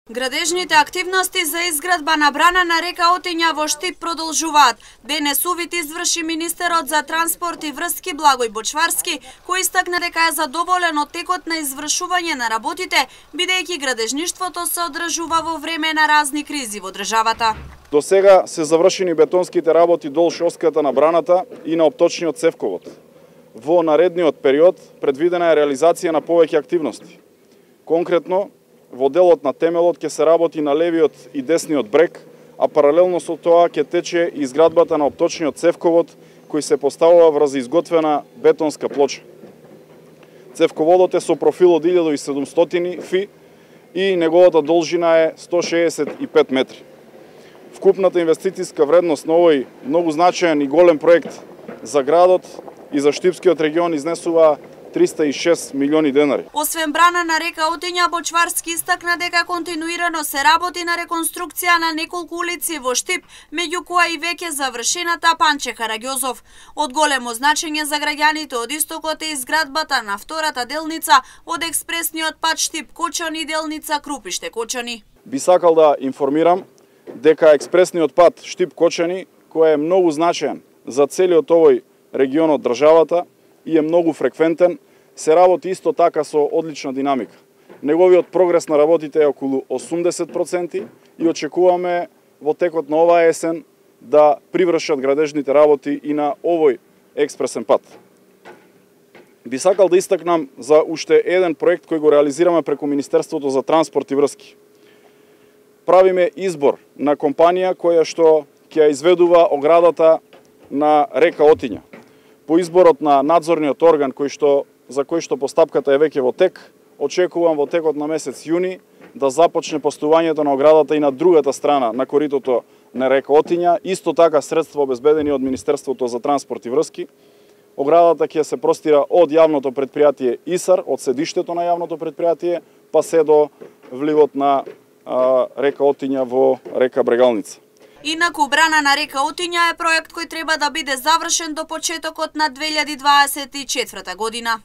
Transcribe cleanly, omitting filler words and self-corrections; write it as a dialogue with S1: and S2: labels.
S1: Градежните активности за изградба на брана на река Отиња во Штип продолжуваат. Денес увид изврши министерот за транспорт и врски Благој Бочварски, кој истакна дека е задоволен од текот на извршување на работите, бидејќи градежништвото се одржува во време на разни кризи во државата.
S2: До сега се завршени бетонските работи долж оската на браната и на опточниот цевковод. Во наредниот период предвидена е реализација на повеќе активности. Конкретно, во делот на темелот ќе се работи на левиот и десниот брег, а паралелно со тоа ќе тече изградбата на опточниот цевковод кој се поставува врз изготвена бетонска плоча. Цевководот е со профил од 1700 фи и неговата должина е 165 метри. Вкупната инвестициска вредност на овој многу значаен и голем проект за градот и за Штипскиот регион изнесува 306 милиони денари.
S1: Освен брана на река Отиња, Бочварски истакна дека континуирано се работи на реконструкција на неколку улици во Штип, меѓу кои и веќе завршената Панче Караѓозов. Од големо значење за граѓаните од истокот е изградбата на втората делница од експресниот пат Штип-Кочани, делница Крупиште-Кочани.
S2: Би сакал да информирам дека експресниот пат Штип-Кочани, кој е многу значаен за целиот овој регион од државата и е многу фреквентен, се работи исто така со одлична динамика. Неговиот прогрес на работите е околу 80% и очекуваме во текот на оваа есен да привршат градежните работи и на овој експресен пат. Би сакал да истакнам за уште еден проект кој го реализираме преку Министерството за транспорт и врски. Правиме избор на компанија која што ќе ја изведува оградата на река Отиња. По изборот на надзорниот орган за кој што постапката е веќе во тек, очекувам во текот на месец јуни да започне постувањето на оградата и на другата страна на коритото на река Отиња, исто така средства обезбедени од Министерството за транспорт и врски. Оградата ќе се простира од јавното претпријатие ИСАР, од седиштето на јавното претпријатие, па се до вливот на река Отиња во река Брегалница.
S1: Инаку брана на река Отиња е проект кој треба да биде завршен до почетокот на 2024 година.